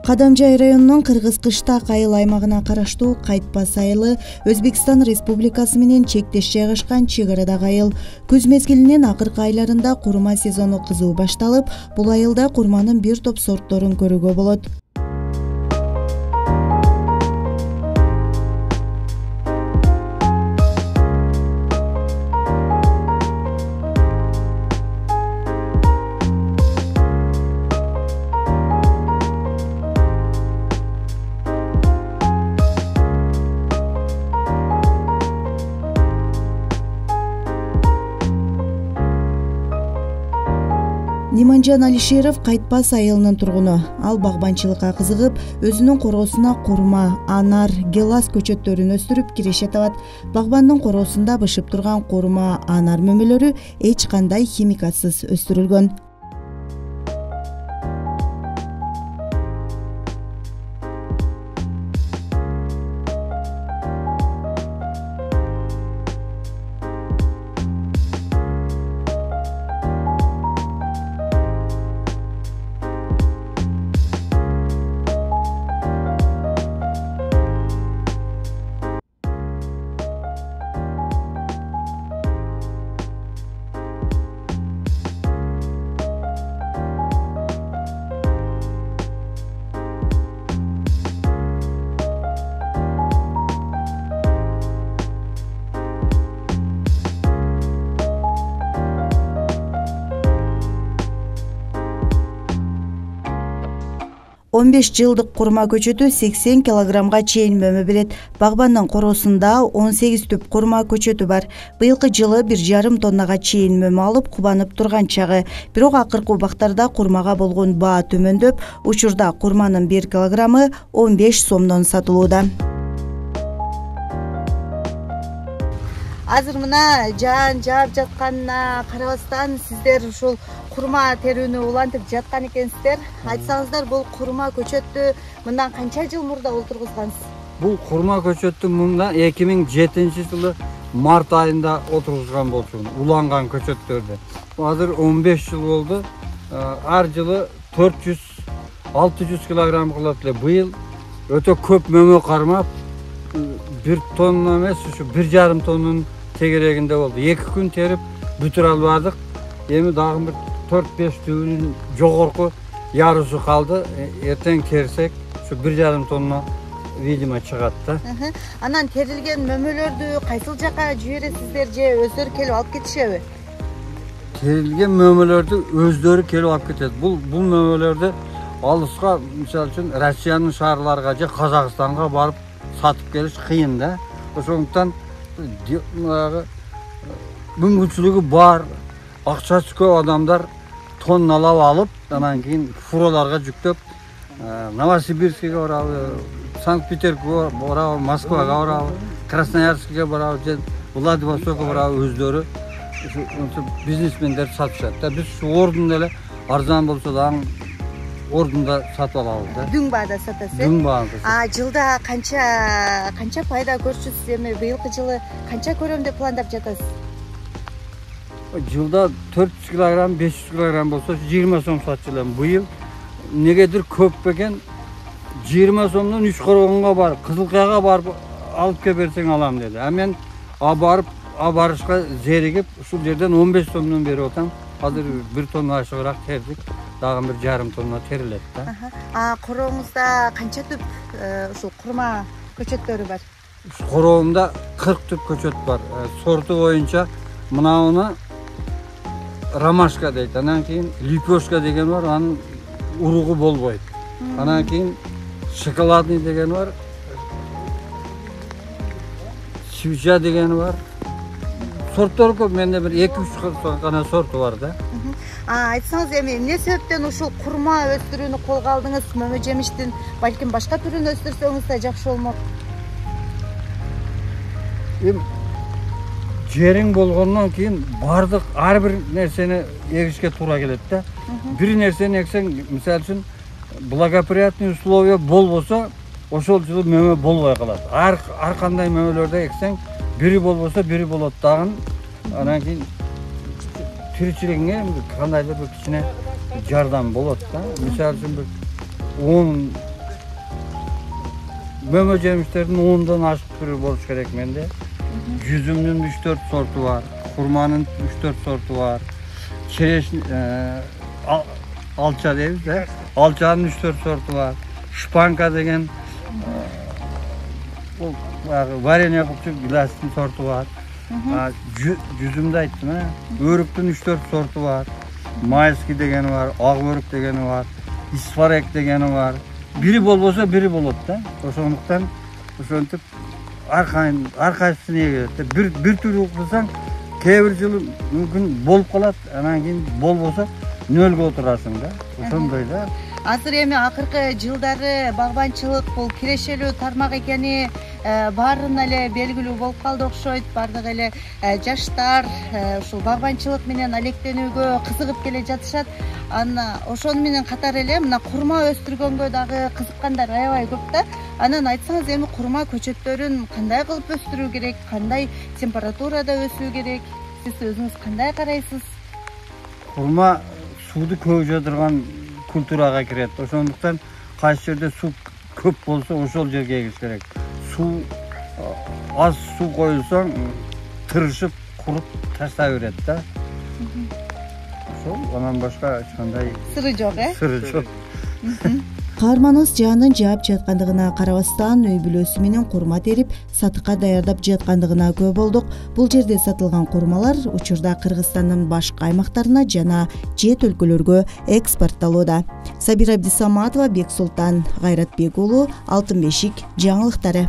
Кадамжай районунун Кыргыз Кыштак айыл аймагына караштуу Кайтпас айылы Өзбекстан Республикасы менен чектеш жайгашкан чек арадагы айыл. Күз мезгилинин акыркы айларында курма сезону кызуу башталып, бул айылда курманын бир топ сортторун көрүүгө болот. Ниманжан Алишеров Кайтпас айылынын тургуну. Ал багбанчылыкка кызыгып, өзүнүн короосуна курма, анар, гелас көчөттөрүн өстүрүп киреше табат. Багбандын короосунда бышып турган курма, анар мөмөлөрү эч кандай химикатсыз өстүрүлгөн. Он 15 жылдык курма көчөтү 80 килограммга чейин мөмө берет. Багбандын короосунда 18 түп курма көчөтү бар. Быйылкы жылы 1,5 тоннага чейин мөмө алып кубанып турган чагы. Бирок акыркы убактарда курмага болгон баа төмөндөп, учурда курманын 1 килограммы 15 сомдон сатылууда. Азыр мына жаан жаап жатканына карабастан сиздер ушул курма терүүнү улантып жаткан экенсиздер. Айтсаңыздар, бул курма көчөттү мындан канча жыл мурда олтургузгансыз? Бул курма көчөттү мында 2007-жылы март айында отургузган болчумун, уланган көчөттөрдү. Азыр 15 жыл болду. Ар жылы 400-600 килограмм кылат эле. Быйыл өтө көп мөмө кармап, 1 тонна эмес, ушу 1,5 тоннун тегерегинде болду. 2 күн терип бүтүрө албадык. Эми дагы бир 4-5 түбүнүн жогорку ярысы калды. Эртең терсек, ушу 1,5 тонна видимо чыгат да. Анан терилген мөмөлөрдү кайсыл жака жибересиздер же өздөрү келип алып кетишеби? Терилген мөмөлөрдү өздөрү келип алып кетет. Бул мөмөлөрдү алыска, мисалы үчүн Россиянын шаарларга же Казакстанга барып сатып келиш кыйын да. Ошондуктан мүмкүнчүлүгү бар, акчасы көп адамдар тонналап алып, анан кийин фуролорго жүктөп, Новосибирскке барабы, Санкт-Петербургга барабы, Москвага барабы, Красноярскке барабы, же Владивостокко барабы өздөрү бизнесмендер сатышат да. Биз ушу ордунда эле арзан болсо дагы ордунда сатып алабыз да. Дүң баада сатасыз? Дүң баада. Жылда канча пайда көрчүсүз? Эми быйылкы жылы канча көрөм деп пландап жатасыз? Жылда 400 килограмм, 500 килограмм болсо 20 сом сатчу элем. Быйыл негедир көп бекен 20 сомдон 3 коргонго барып, Кызылкаяга барып алып кеп берсең алам деди. Мен барышка зеригип, ушул жерден 15 сомдон берип атам. Азыр 1 тонна ашыгыраак тердик. Дагы 1,5 тонна терилет да. Корооңузда канча түп ушул курма көчөттөрү бар? Короомда 40 түп көчөт бар. Сорту боюнча мынауны ромашка дейт. Анан кийин лепешка деген бар, анын уругу болбойт. Анан кийин шоколадный деген бар. Свеча деген бар. Сорттор көп, менде бир 2-3 гана сорту бар да. Айтсаңыз, эми эмне себептен ушул курма өстүрүүнү колго алдыңыз? Мөмө жемиштин балким башка түрүн өстүрсөңүз да жакшы болмок. Жериң болгондон кийин бардык ар бир нерсени эгишке туура келет да. Бир нерсени эксең, мисалы үчүн благоприятный условия болбосо, ошол жылы мөмө болбой калат. Ар кандай мөмөлөрдө эксең, бири болбосо бири болот дагы. Анан кийин тиричилигиңе кандайдыр бир кичине жардам болот да. Мисалы үчүн 10 мөмө жемиштердин 10дон ашык түрү болуш керек менде. Жүзүмдүн 3-4 сорту бар, курманын 3-4 сорту бар. Череш алча дейбиз да. Алчанын 3-4 сорту бар. Шпанка деген бул варенье кылчу гиластын сорту бар. Жүзүмдү айттым, өрүктүн 3-4 сорту бар. Майский дегени бар, ак өрүк дегени бар, исфарек дегени бар. Бири болбосо бири болот да. Ошондуктан ошентип ар кайсысын эгерет. Бир түрү кылсаң, кээ бир жылы мүмкүн болуп калат, анан кийин болбосо нөлгө отурасың да. Ошондой да. Азыр эми акыркы жылдары багбанчылык бул кирешелүү тармак экени баарына эле белгилүү болуп калды окшойт. Баардык эле жаштар ушул багбанчылык менен алектенүүгө кызыгып келе жатышат. Ошону менен катары эле мына курма өстүргөнгө дагы кызыккандар аябай көп да. Анан айтсаңыз, эми курма көчөттөрүн кандай кылып өстүрүү керек, кандай температурада өсүү керек? Сиз өзүңүз кандай карайсыз? Курма сууду көп жадырган культурага кирет. Ошондуктан кайсы жерде суу көп болсо ошол жерге эгиш керек. Аз суу коюлсаң тырышып, куруп таштай берет да. Ошол, анан башка эч кандай Сыры жок, Сыры жок. Каарманыбыз Жанын жаап жаткандыгына карабастан үй бүлөсү менен курма терип сатыкка даярдап жаткандыгына күбө болдук. Бул жерде сатылган курмалар учурда Кыргызстандын башка аймактарына жана чет өлкөлөргө экспорттолууда. Сабира Абдисаматова, Бексултан Кайратбек уулу, Алтын бешик жаңылыктары.